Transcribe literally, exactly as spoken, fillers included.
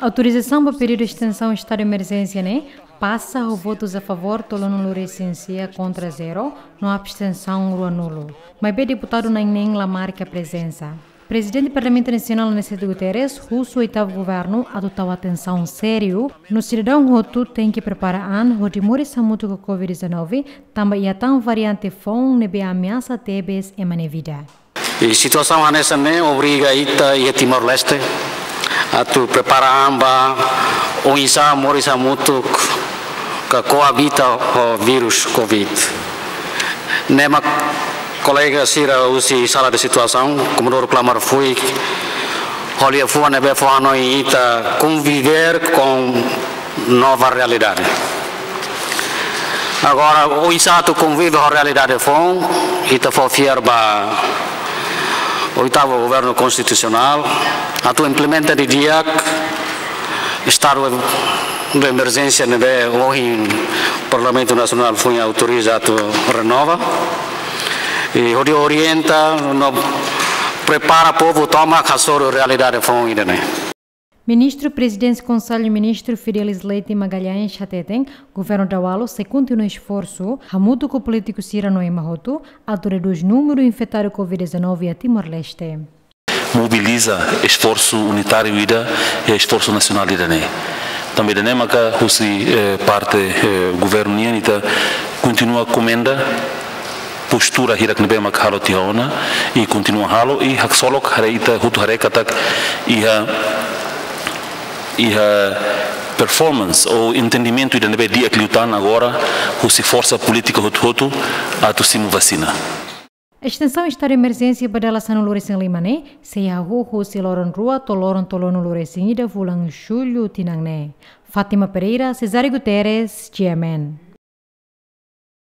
Autorizasaun ba pedidu estensaun estadu de emerjénsia ne'e pasa ho votus a favór tolunulu-resin-sia, kontra zero, no abstensaun ruanulu. Maibé deputadu na'in-neen la marka prezensa. Prezidente Parlamentu Nasionál Aniceto Guterres husu oitavu governu atu tau atensaun sériu no sidadaun hotu tenke prepara an hodi moris hamutuk ho covid dezanove, tanba iha tan variante foun ne'ebé ameasa tebes ema nia vida. I situasaun hanesan ne'e obriga ita iha Timor-Leste atu prepara an ba oinsá moris hamutuk ka koabita ho vírus covid. Ne'e mak kolega sira husi sala de situasaun, Komodoro Klamar Fuik, ho liafuan ne'ebé fó hanoin ita conviver com nova realidade. Agora, oinsá atu konvive ho realidade foun, ita fó fiar ba oitavu governu konstitusionál atu implementa didi'ak estadu de emerjénsia ne'ebé ohin Parlamentu Nasionál foin autoriza atu renova. I hodi orienta no prepara povu tomak hasoru realidade foun ida-ne'e. Ministru Prezidénsia Konsellu Ministru Fidelis Leite Magalhães hateten, governu Dawalo sei kontinua esforsu, hamutuk ho polítiku sira no ema hotu, atu redús númeru infetadu covid dezanove iha Timor-Leste. Mobiliza esforsu unitáriu ida, i esforsu nasionál ida-ne'e. Tanba ida-ne'e maka husi, eh, parte, eh, governu nian ita kontinua komenda postura hirak ne'ebé mak halo tiha ona, i kontinua halo, i haksolok haree, ita hotu haree katak iha, iha performance ou entendimentu ida ne'ebé di'ak liután agora husi forsa polítika hotu-hotu atu simu vasina. Estensaun estadu de emerjénsia ba dala sanulu-resin-lima ne'e sei hahú husi loron rua to'o loron tolunulu-resin-ida fulan Jullu tinan ne'e. Fátima Pereira, Cesário Guterres, G M N.